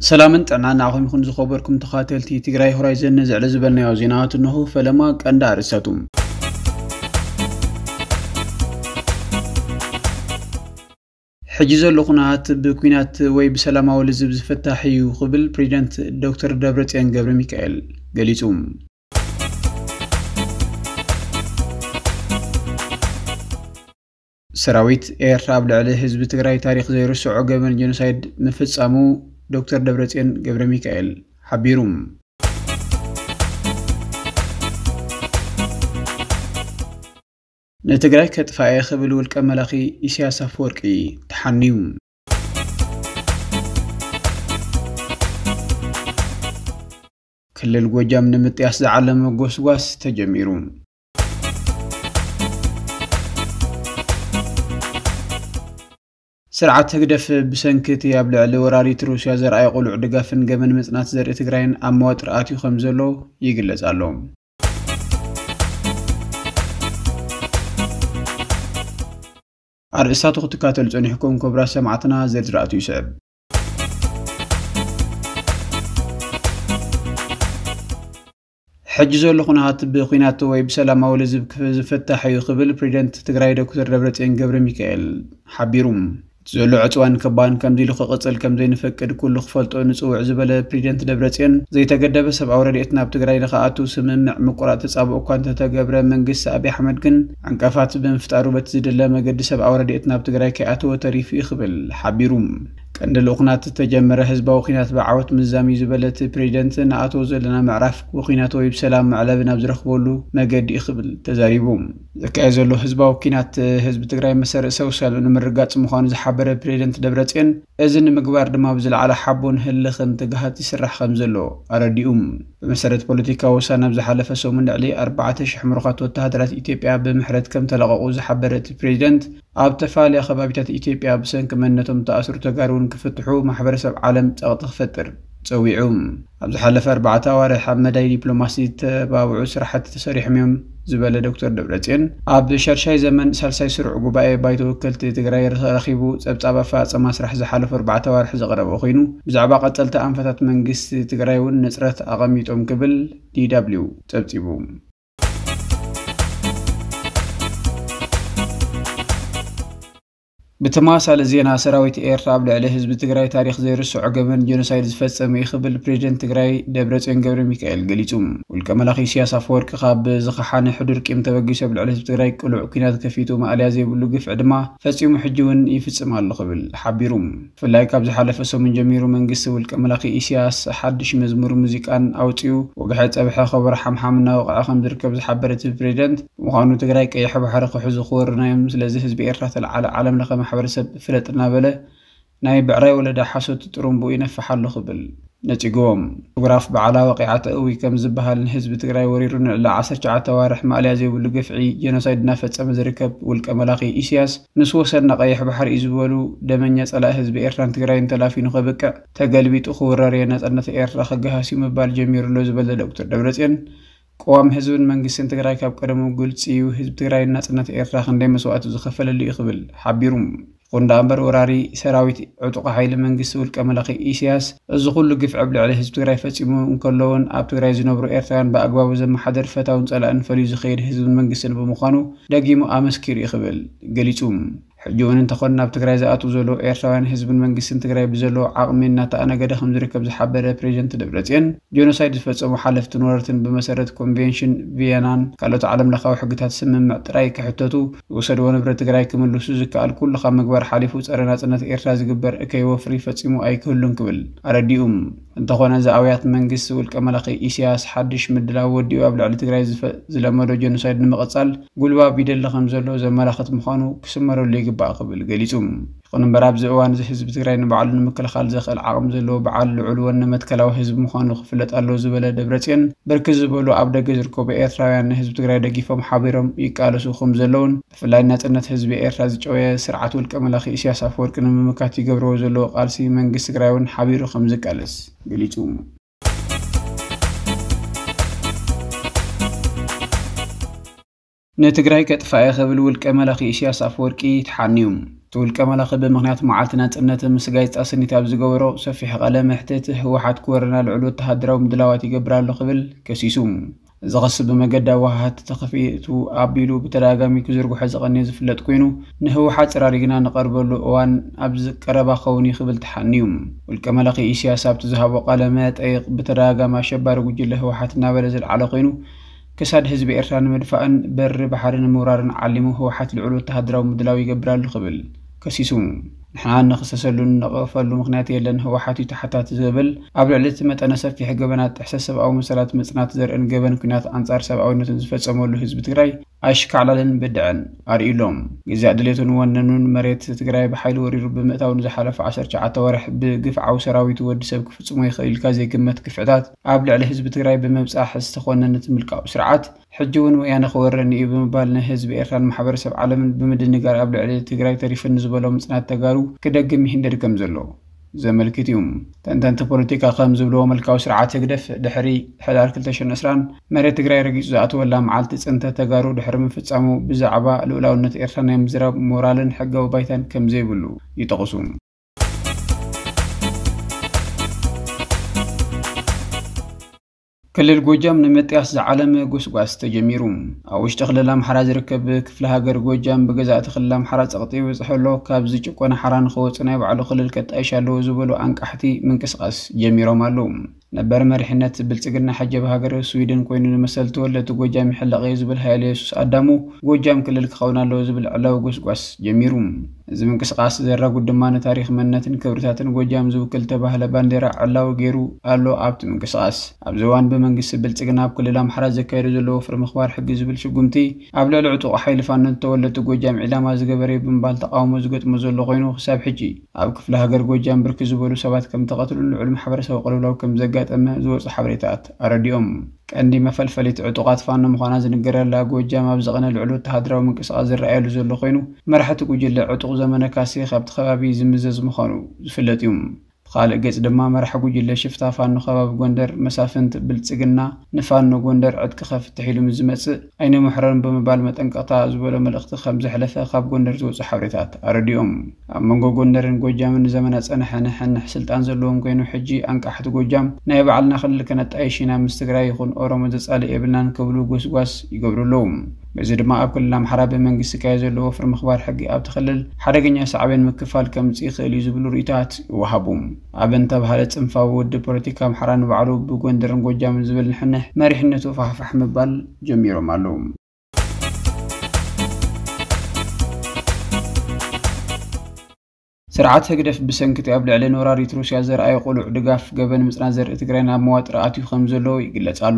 ሰላምን ጥዕናን ንዓኹም ይኹን ዝኸበርኩም ተኸታተልቲ ትግራይ ሆራይዘን። ነዚ ዕለ ዝበልናዮ ዜናታት እንሆ። ፈለማ ቀንዲ ኣርእስታቱ። ሕጂ ዘሎ ኩነታት ብኲናት ወይ ብሰላማዊ ልዝብ ዝፍታሕ እዩ ክብል ፕሬዚደንት ዶክተር ደብረጽዮን ገብረ ሚካኤል ገሊጹ። ሰራዊት ኤርትራ ኣብ ልዕሊ ህዝቢ ትግራይ ታሪኽ ዘይርስዖ ገበን ጀኖሳይድ ምፍጻሙ ዶክተር ደብረጽዮን ገብረ ሚካኤል ሓቢሩ። ንትግራይ ከጥፋእ እየ ክብል ውልቀ መላኺ ኢሳያስ ኣፈወርቂ ተሓንዩ። ክልል ጎጃም ንምጥያስ ዝዓለመ ጎስጓስ ተጀሚሩ። ስርዓት ህግደፍ ብሰንኪ እቲ ኣብ ልዕሊ ወራሪት ሩስያ ዘርኣየ ቅሉዕ ድጋፍን ገበን ምጽናት ዘርኢ ትግራይን ኣብ መዋጥር ኣትዩ ከም ዘሎ ይግለጽ ኣሎ። ኣርእስታቱ ክትከታተሉ ጸኒሕኩም ክቡራት ሰማዕትና፣ ዝርዝራቱ ይስዕብ። ሕጂ ዘሎ ኩነታት ብኲናት ወይ ብሰላማዊ ልዝብ ክፍ-፣ ዝፍታሕ እዩ ክብል ፕሬዚደንት ትግራይ ዶክተር ደብረጽዮን ገብረ ሚካኤል ሓቢሩ። እቲ ዘሎ ዕጽዋን ከባን ከምዚ ኢሉ ክቕጽል ከም ዘይንፈቅድ ኩሉ ክፈልጦ ንጽውዕ ዝበለ ፕሬዚደንት ደብረጽዮን፣ ዘይተገደበ ሰብኣዊ ረድኤት ናብ ትግራይ ንኽኣቱ ስምምዕ ምቁራጽ ተጻብኦ እኳ እንተተገብረ፣ መንግስቲ ኣብይ ኣሕመድ ግን ዕንቀፋት ብምፍጣሩ በቲ ዝድለ መገዲ ሰብኣዊ ረድኤት ናብ ትግራይ ከይኣተወ ተሪፉ እዩ ክብል ሓቢሩ። ቀንዲ ልኡኽ ናቲ ዝተጀመረ ህዝባዊ ኲናት ብዓወት ምዝዛም እዩ ዝበለ እቲ ፕሬዚደንት፣ ንኣትዎ ዘለና ምዕራፍ ብኲናት ወይ ብሰላም መዕለቢ ናብ ዝረኽበሉ መገዲ እዩ ክብል ተዛሪቡ። ዝካየድ ዘሎ ህዝባዊ ኲናት ህዝቢ ትግራይ መሰረት ሰውሳሉ ንምርጋጽ ምዃኑ ዝሓበረ ፕሬዚደንት ደብረጽዮን፣ እዚ ንምግባር ድማ ብዝለዓለ ሓቦን ህልኽን ትግሃት ይስራሕ ከም ዘሎ ኣረዲኡ። ብመሰረት ፖለቲካዊ ውሳነ ኣብ ዝሓለፈ ሰሙን ልዕሊ ኣርባዕተ ሽሕ ምሩኻት ወተሃደራት ኢትዮጵያ ብምሕረት ከም ተለቐቑ ዝሓበረ እቲ ፕሬዚደንት፣ ኣብ ተፈላለያ ከባቢታት ኢትዮጵያ ብሰንኪ መንነቶም ዝተኣስሩ ተጋሩ እውን ክፍትሑ ማሕበረሰብ ዓለም ጸቕጢ ክፈጥር ጸዊዑ። ኣብ ዝሓለፈ ኣርባዕተ ኣዋርሕ ኣብ መዳይ ዲፕሎማሲ ዝተባብዑ ስራሕቲ ተሰሪሖም እዮም ዝበለ ዶክተር ደብረጽዮን፣ ኣብ ሻድሻይ ዘመን ሳልሳይ ስሩዕ ጉባኤ ባይቶ ወከልቲ ትግራይ ረኺቡ ጸብጻብ ኣፈጻጸማ ስራሕ ዝሓለፉ ኣርባዕተ ኣዋርሕ ዘቕረበ ኮይኑ፣ ብዛዕባ ቀጸልቲ ኣንፈታት መንግስቲ ትግራይ እውን ነጽረት ኣቐሚጦም ክብል ዲ ደብሊው ጸብጺቡ። ብተመሳሳሊ ዜና፣ ሰራዊት ኤርትራ ኣብ ልዕሊ ህዝቢ ትግራይ ታሪኽ ዘይርስዖ ገበን ጀኖሳይድ ዝፈጸመ እዩ ክብል ፕሬዚደንት ትግራይ ደብረጽዮን ገብረ ሚካኤል ገሊጹ። ውልቀ መላኺ ኢሳያስ ኣፈወርቂ ካብ ዝኸሓነ ሕዱር ቂም ተበጊሱ ኣብ ልዕሊ ህዝቢ ትግራይ ቅሉዕ ኲናት ከፊቱ ማእለያ ዘይብሉ ግፍዒ ድማ ፈጺሙ፣ ሕጂ እውን ይፍጽም ኣሎ ክብል ሓቢሩ። ብፍላይ ካብ ዝሓለፈ ሰሙን ጀሚሩ መንግስቲ ውልቀ መላኺ ኢሳያስ ሓድሽ መዝሙር ሙዚቃን ኣውጺኡ፣ ወግሐ ጸብሐ ከበሮ ሓምሓም እናወቕዐ ከም ዝርከብ ዝሓበረ እቲ ፕሬዚደንት፣ ብምዃኑ ትግራይ ቀይሕ ባሕሪ ክሕዙ ክወሩና እዮም፣ ስለዚ ህዝቢ ኤርትራ ተለዓለ፣ ዓለም ለኸ ማሕበረሰብ ፍለጥ እናበለ ናይ ብዕራይ ወለዳ ሓሶት ጥሩምብኡ ይነፍሕ ኣሎ ክብል ነጺግዎም። ፎቶግራፍ በዓላ ወቂዓ ተእዊ ከም ዝበሃል፣ ንህዝቢ ትግራይ ወሪሩ ንልዕሊ ዓሰርተ ትሽዓተ ኣዋርሕ ማእለያ ዘይብሉ ግፍዒ ጀኖሳይድ እናፈጸመ ዝርከብ ውልቀ መላኺ ኢሳያስ፣ ምስ ወሰድና ቀይሕ ባሕሪ እዩ ዝበሉ ደመኛ ጸላኢ ህዝቢ ኤርትራን ትግራይን ተላፊኑ ከብቅዕ፣ ተገልቢጡ ክውረር እየ፣ ናጽነት ኤርትራ ክገሃስ እዩ ምባል ጀሚሩ ኣሎ ዝበለ ዶክተር ደብረጽዮን፣ ቅዋም ህዝብን መንግስትን ትግራይ ካብ ቀደሙ ግልጺ እዩ፣ ህዝቢ ትግራይ ናጽነት ኤርትራ ክንደይ መስዋእቲ ዝኸፈለሉ እዩ ክብል ሓቢሩ። ይኹን ደኣ እምበር፣ ወራሪ ሰራዊት ዕጡቕ ሓይሊ መንግስቲ ውልቀ መላኺ ኢሳያስ እዚ ኩሉ ግፍዒ ኣብ ልዕሊ ህዝቢ ትግራይ ፈጺሙ እንከሎ እውን፣ ኣብ ትግራይ ዝነብሩ ኤርትራውያን ብኣግባቡ ዘመሓድር ፈታውን ጸላእን ፈልዩ ዝኸይድ ህዝብን መንግስትን ብምዃኑ ደጊሙ ኣመስኪሩ እዩ ክብል ገሊጹ። ሕጂ እውን እንተኾነ፣ ናብ ትግራይ ዝኣትዉ ዘለዉ ኤርትራውያን ህዝብን መንግስትን ትግራይ ብዘለዎ ዓቕሚ እናተኣነገደ ከም ዝርከብ ዝሓበረ ፕሬዚደንት ደብረጽዮን፣ ጀኖሳይድ ዝፈጸሙ ሓለፍትን ወረርትን ብመሰረት ኮንቬንሽን ቪየናን ካልኦት ዓለም ለኻዊ ሕግታት ስምምዕ ጥራይ ክሕተቱ፣ ዝወሰድዎ ንብረት ትግራይ ክምልሱ ዝከኣል ኩሉ ካብ ምግባር ሓሊፉ ጸረ ናጽነት ኤርትራ ዝግበር እከይ ወፍሪ ፈጺሙ ኣይክህሉን ክብል ኣረዲኡ። እንተኾነ፣ እዚ ኣውያት መንግስቲ ውልቀ መላኺ ኢሳያስ ሓድሽ ምድላው ወዲኡ ኣብ ልዕሊ ትግራይ ዝፈ-፣ ዝለመዶ ጀኖሳይድ ንምቕጻል ጉልባብ ይደሊ ከም ዘሎ ዘመላኽት ምዃኑ ክስመረሉ ይግባእ ክብል ገሊጹ። ይኹን እምበር፣ ኣብዚ እዋን እዚ ህዝቢ ትግራይ ንባዕሉ ንምክልኻል ዘኽእል ዓቕሚ ዘለዎ በዓል ልዑል ወነ መትከላዊ ህዝቢ ምዃኑ ክፍለጥ ኣለዎ ዝበለ ደብረጽዮን፣ ብርክት ዝበሉ ኣብ ደገ ዝርከቡ ኤርትራውያን ንህዝቢ ትግራይ ደጊፎም ሓቢሮም ይቃለሱ ከም ዘለውን፣ ብፍላይ ናጽነት ህዝቢ ኤርትራ ዝጨወየ ስርዓት ውልቀ መላኺ ኢሳያስ ኣፈወርቂ ንምምካት ይገብርዎ ዘለዎ ቃልሲ መንግስቲ ትግራይ እውን ሓቢሩ ከም ዝቃለስ ገሊጹ። ንትግራይ ከጥፋእ እየ ክብል ውልቀ መላኺ ኢሳያስ ኣፈወርቂ ተሓንዩ። እቲ ውልቀ መላኺ ብምኽንያት መዓልቲ ናጽነት ምስ ጋዜጣ ስኒት ኣብ ዝገበሮ ሰፊሕ ቃለ መሕትት፣ ህወሓት ክወረና ልዑል ወተሃደራዊ ምድላዋት ይገብር ኣሎ ክብል ከሲሱ። እዚ ክሲ ብመገዲ ኣወሃሃድቲ ተኸፊቱ ኣቢሉ ብተደጋጋሚ ክዝርግሖ ዝቐንየ ዝፍለጥ ኮይኑ፣ ንህወሓት ጽራሪ ግና ንቐርበሉ እዋን ኣብዚ ቀረባ ክኸውን እዩ ክብል ተሓንዩ። ውልቀ መላኺ ኢሳያስ ኣብቲ ዝሃቦ ቃለ መጠይቕ ብተደጋጋሚ ኣሸባሪ ጉጅለ ህወሓት እናበለ ዝለዓለ ኮይኑ፣ ክሳድ ህዝቢ ኤርትራ ንምድፋእን በሪ ባሕሪ ንምውራርን ዓሊሙ ህወሓት ልዑል ወተሃደራዊ ምድላው ይገብር ኣሎ ክብል ከሲሱ። ንሕና እንኽሰሰሉን እንነቐፈሉ ምኽንያት የለን፣ ህወሓት እዩ ተሓታቲ ዝብል ኣብ ልዕሊ እቲ መጠነ ሰፊሕ ገበናት ጥሕሰት ሰብኣዊ መሰላት ምጽናት ዘርእን ገበን ኲናት ኣንጻር ሰብኣዊነትን ዝፈጸመሉ ህዝቢ ትግራይ ኣሽካዕላልን ብድዐን ኣርእዩሎም። ግዛእ ድሌቱን ወነኑን መሬት ትግራይ ብሓይሊ ወሪሩ ብምእታው ንዝሓለፈ ዓሰርተ ትሽዓተ ወርሕ ብግፍዓዊ ሰራዊቱ ወዲ ሰብ ክፍጽሞ ይኽእል ኢልካ ዘይግመት ግፍዕታት ኣብ ልዕሊ ህዝቢ ትግራይ ብምብጻሕ ዝተኾነነ እቲ ምልካዊ ስርዓት፣ ሕጂ እውን ወያነ ክወረኒ እዩ ብምባል ንህዝቢ ኤርትራን ማሕበረሰብ ዓለምን ብምድንጋር ኣብ ልዕሊ ትግራይ ተሪፉ ንዝበሎ ምጽናት ተጋሩ ክደግም ይህንደድ ከም ዘሎ ዘመልክት እዩ። ተንተንቲ ፖለቲካ ከም ዝብልዎ፣ ምልካዊ ስርዓት ህግደፍ ድሕሪ ሕዳር ክልተ ሽሕን ዕስራን መሬት ትግራይ ረጊጹ ዝኣተወላ መዓልቲ ጽንተት ተጋሩ ድሕሪ ምፍጻሙ ብዛዕባ ልኡላውነት ኤርትራ ናይ ምዝራብ ሞራልን ሕጋዊ ባይታን ከም ዘይብሉ ይጠቕሱ። ክልል ጎጃም ንምጥያስ ዝዓለመ ጎስጓስ ተጀሚሩ። ኣብ ውሽጢ ክልል ኣምሓራ ዝርከብ ክፍለ ሃገር ጎጃም ብገዛእቲ ክልል ኣምሓራ ጸቕጢ ይበጽሖ ኣሎ። ካብ ዝጭቆነ ሓራ ንኸወጽእ ናይ ባዕሉ ክልል ከጣይሽ ኣለዎ ዝበሉ ኣንቃሕቲ ምንቅስቓስ ጀሚሮም ኣለዉ። ነበር መሪሕነት ብልጽግና ሕጂ ኣብ ሃገረ ስዊድን ኮይኑ ንመሰል ተወለድቲ ጎጃም ይሕለቕ እየ ዝብል ሃይለ የሱስ ኣዳሙ፣ ጎጃም ክልል ክኸውን ኣለዎ ዝብል ዕላዊ ጎስጓስ ጀሚሩ። እዚ ምንቅስቓስ ዘራጉድ ድማ ንታሪኽ መንነትን ክብርታትን ጎጃም ዝውክል ተባህለ ባንዴራ ዕላዊ ገይሩ ኣሎ። ኣብቲ ምንቅስቓስ ኣብዚ እዋን ብመንግስቲ ብልጽግና ኣብ ክልል ኣምሓራ ዘካየዱ ዘለዎ ወፍሪ ምኽባር ሕጊ ዝብል ስጉምቲ ኣብ ልዕሊ ዕጡቕ ሓይሊ ፋኖን ተወለድቲ ጎጃም ዒላማ ዝገበረ እዩ ብምባል ተቓውሞ ዝገጥሞ ዘሎ ኮይኑ፣ ክሳብ ሕጂ ኣብ ክፍለ ሃገር ጎጃም ብርክት ዝበሉ ሰባት ከም ተቐትሉን ልዑል ማሕበረሰብ ቅልውላው ከም ዘጋጠመ ዝወፁ ሓበሬታት ኣረዲኦም። ቀንዲ መፈልፈሊት ዕጡቓት ፋኖ ምዃና ዝንገረላ ጎጃም ኣብ ዝቐነ ልዑል ወተሃደራዊ ምንቅስቓስ ዝረኣየሉ ዘሎ ኮይኑ፣ መራሕቲ ጉጅለ ዕጡቕ ዘመነ ካሴ ካብቲ ከባቢ ዝምዘዝ ምዃኑ ዝፍለጥ እዩ። ብኻልእ ገጽ ድማ መራሒ ጉጅለ ሽፍታ ፋኖ ከባቢ ጎንደር መሳፍንት ብልጽግና ንፋኖ ጎንደር ዕጥቂ ከፍትሕ ኢሉ ምስ ዝመጽእ ኣይንምሕረን ብምባል መጠንቀቕታ ዝበሎ መልእኽቲ ከም ዘሕለፈ ካብ ጎንደር ዝወጹ ሓበሬታት ኣረዲኦም። ኣብ መንጎ ጎንደርን ጎጃምን ንዘመናት ጸንሐ ንሕንሕ ስልጣን ዘለዎም ኮይኑ፣ ሕጂ ኣንቃሕቲ ጎጃም ናይ ባዕልና ክልል ከነጣይሽ ኢና፣ ምስ ትግራይ ይኹን ኦሮሞ ዘጻልእ የብልናን ክብሉ ጎስጓስ ይገብሩ ኣለዉ። በዚ ድማ ኣብ ክልል ኣምሓራ ብመንግስቲ ዝካየድ ዘሎ ወፍሪ ምኽባር ሕጊ ኣብቲ ክልል ሓደገኛ ሳዕቤን ምክፋል ከምጽእ ይኽእል እዩ ዝብሉ ርእይቶታት ይወሃቡ። ኣብ እንተብሃለ ጽንፋዊ ውድብ ፖለቲካ ኣምሓራ ንባዕሉ ብጎንደርን ጎጃምን ዝብል ንሕንሕ መሪሕነቱ ፋሕፋሕ ምባል ጀሚሮም ኣለዉ። ስርዓት ህግደፍ ብሰንኪ እቲ ኣብ ልዕሊ ንወራሪት ሩስያ ዘርኣዮ ቅሉዕ ድጋፍ ገበን ምጽናት ዘርኢ ትግራይ ናብ መዋጥር ኣትዩ ከም ዘሎ ይግለጽ ኣሎ።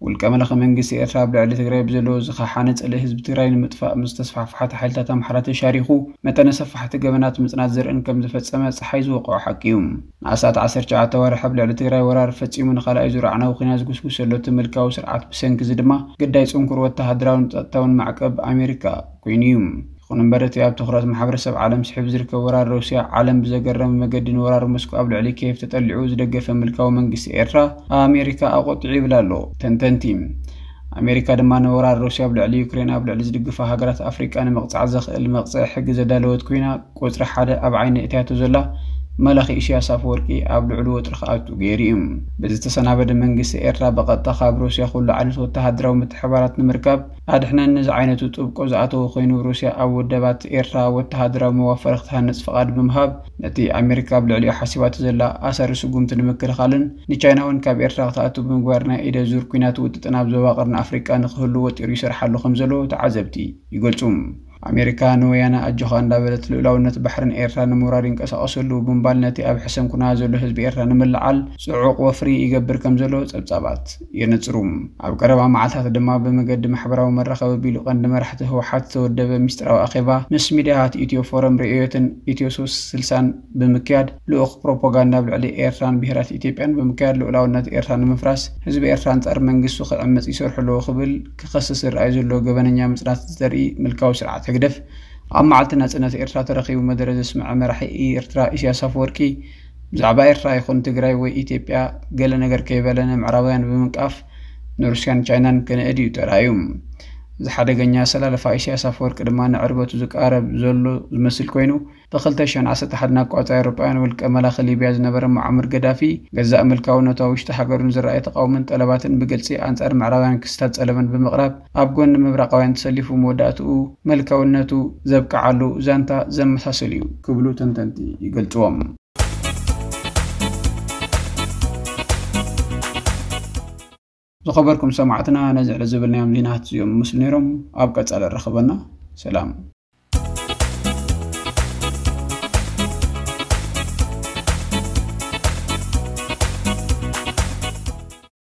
ውልቀ መላኺ መንግስቲ ኤርትራ ኣብ ልዕሊ ትግራይ ብዘለዎ ዝኸሓነ ጽልኢ ህዝቢ ትግራይ ንምጥፋእ ምስ ተስፋሕፋሕቲ ሓይልታት ኣምሓራ ተሻሪኹ መጠነ ሰፋሕቲ ገበናት ምጽናት ዘርእን ከም ዝፈጸመ ጸሓይ ዝወቕዖ ሓቂ እዩ። ንኣስታት ዓሰርተ ትሽዓተ ወርሒ ኣብ ልዕሊ ትግራይ ወራር ፈጺሙ ንኻልኣይ ዙር ኣዕናዊ ኲናት ዝጉስጉስ ዘሎ እቲ ምልካዊ ስርዓት ብሰንኪ እዚ ድማ ግዳይ ጽንኩር ወተሃደራውን ጸጥታውን ማዕቀብ ኣሜሪካ ኮይኑ እዩ። ይኹን እምበር፣ እቲ ኣብ ትኹረት ማሕበረሰብ ዓለም ስሒቡ ዝርከብ ወራር ሩስያ፣ ዓለም ብዘገረመ መገዲ ንወራር ሞስኮ ኣብ ልዕሊ ኪየቭ ተጠሊዑ ዝደገፈ ምልካዊ መንግስቲ ኤርትራ ኣሜሪካ ኣቖጢዑ ይብል ኣሎ ተንተንቲ። ኣሜሪካ ድማ ንወራር ሩስያ ኣብ ልዕሊ ዩክሬን ኣብ ልዕሊ ዝድግፋ ሃገራት ኣፍሪቃ ንምቕጻዕ ዘኽእል መቕጽዒ ሕጊ ዘዳለወት ኮይና፣ ቁጽሪ ሓደ ኣብ ዓይኒ እትያቶ ዘላ መላኺ ኢሳያስ ኣፈወርቂ ኣብ ልዕሊ ወጥሪ ክኣቱ ገይሩ እዩ። ብዝተሰናበደ መንግስቲ ኤርትራ ብቐጥታ ካብ ሩስያ ኩሉ ዓይነት ወተሃደራዊ ምትሕባራት ንምርካብ ኣድሕነኒ ዝዓይነቱ ጥብቆ ዝኣተወ ኮይኑ፣ ሩስያ ኣብ ወደባት ኤርትራ ወተሃደራዊ መዋፈሪ ክትሃንጽ ፍቓድ ብምሃብ፣ ነቲ ኣሜሪካ ኣብ ልዕሊኡ ሓሲባቶ ዘላ ኣሳሪ ስጉምቲ ንምክልኻልን ንቻይና እውን ካብ ኤርትራ ክትኣቱ ብምግባር ናይ ኢደ ዙር ኲናት ውጥጥን ኣብ ዞባ ቀርኒ ኣፍሪቃ ንክህሉ ወጢሩ ይሰርሓሉ ከም ዘሎ ተዓዘብቲ ይገልጹ። ኣሜሪካ ንወያነ ኣጆኻ እንዳበለት ልኡላውነት ባሕርን ኤርትራ ንምውራር ይንቀሳቐሱ ኣለዉ ብምባል ነቲ ኣብ ሕሰም ኩናት ዘሎ ህዝቢ ኤርትራ ንምልዓል ጽዑቕ ወፍሪ ይገብር ከም ዘሎ ጸብጻባት የነጽሩ። ኣብ ቀረባ መዓልታት ድማ ብመገዲ ማሕበራዊ መራኸቢ ኣቢሉ ቀንዲ መራሕቲ ህወሓት ዝተወደበ ሚስጥራዊ ኣኼባ ምስ ሚድያታት ኢትዮ ፎረም ርእዮትን ኢትዮ ሶስት ስልሳን ብምክያድ ልኡኽ ፕሮፓጋንዳ ኣብ ልዕሊ ኤርትራን ብሄራት ኢትዮጵያን ብምክያድ ልኡላውነት ኤርትራ ንምፍራስ ህዝቢ ኤርትራ ኣንጻር መንግስቱ ክዕምጽ ይሰርሑ ኣለዉ ክብል ክኸስስ ዝረኣይ ዘሎ ገበነኛ ምጽናት ዘርኢ ምልካዊ ስርዓት ህግደፍ ኣብ መዓልቲ ናጽነት ኤርትራ ተረኺቡ መደረ ዘስምዐ መራሒ ኤርትራ ኢሳያስ ኣፈወርቂ ብዛዕባ ኤርትራ ይኹን ትግራይ ወይ ኢትዮጵያ ገለ ነገር ከይበለ ንምዕራባውያን ብምንቃፍ ንሩስያን ቻይናን ክንእድ እዩ ተራእዩ። እዚ ሓደገኛ ኣሰላልፋ ኢሳያስ ኣፈወርቂ ድማ ንዕርበቱ ዝቃረብ ዘሎ ዝመስል ኮይኑ፣ ብ2011 ኣቋጻይ ኣውሮጳውያን ውልቀ መላኺ ሊብያ ዝነበረ ሙዓመር ገዳፊ ገዛእ ምልካውነቱ ኣብ ውሽጢ ሃገሩን ዝረኣየ ተቓውሞን ጠለባትን ብግልጺ ኣንጻር ምዕራባውያን ክስታት ጸለመን ብምቕራብ ኣብ ጎኒ ምብራቓውያን ተሰሊፉ መወዳእትኡ ምልካውነቱ ዘብቅዓሉ ዛንታ ዘመሳስል እዩ ክብሉ ተንተንቲ ይገልጽዎም። ዝኸበርኩም ሰማዕትና ነዚ ዕለት ዝብልናዮም ዜናት እዚኦም ምስሉ ነይሮም። ኣብ ቀጻሊ ረኸበና። ሰላም።